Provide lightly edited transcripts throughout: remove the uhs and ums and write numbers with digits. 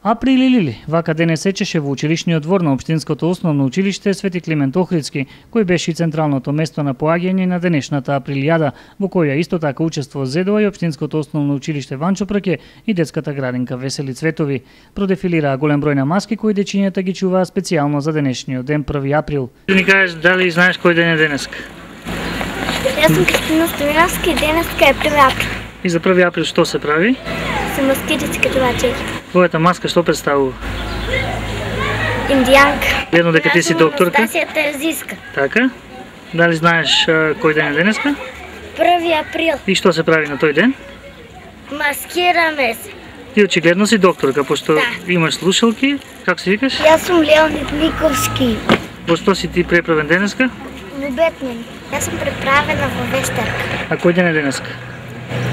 Април или, вака денес сечеше во училишниот двор на Општинското основно училиште Свети Климент Охридски, кој беше и централното место на поаѓање на денешната априлијада, во која исто така учество зедува и Општинското основно училиште Ванчо Прке и детската градинка Весели Цветови. Продефилираа голем број на маски кои дечињата ги чуваа специјално за денешниот ден 1 април. Ни кажеш дали знаеш кој ден е денеска? Јас сум Кристина Стојановска и денеска е 1 април. И за 1 април што се прави? Се маскирици като вачер. Твојата маска што представува? Индијанка. Верно дека ти си докторка? Анастасија Терзиска. Така? Дали знаеш кој ден е денеска? 1 април. И што се прави на тој ден? Маскираме се. Ти очигледно си докторка, пошто Да. имаш слушалки. Како се викаш? Јас сум Леонид Никовски. Во што си ти преправен денеска? Во Бетмен. Јас сум преправена во Вестарка. А кој ден е денеска?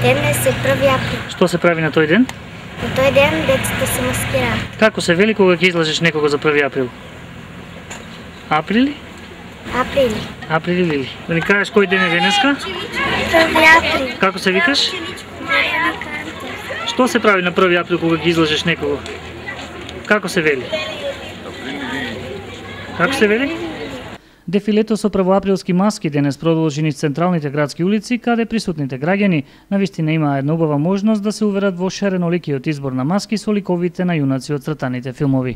Денес е 1 април. Што се прави на тој ден? На тој ден децата се маскираат. Како се вели кога ќе излажеш некого за 1 април? Априли? Априли. Априли. Да ни кажеш кој ден е денеска? 1 април. Како се викаш? Што се прави на 1 април кога ги излажеш некого? Како се вели? Како се вели? Дефилето со првоаприлски маски денес продолжи низ централните градски улици, каде присутните граѓани навистина имаа една убава можност да се уверат во шареноликиот избор на маски со ликовите на јунаци од цртаните филмови.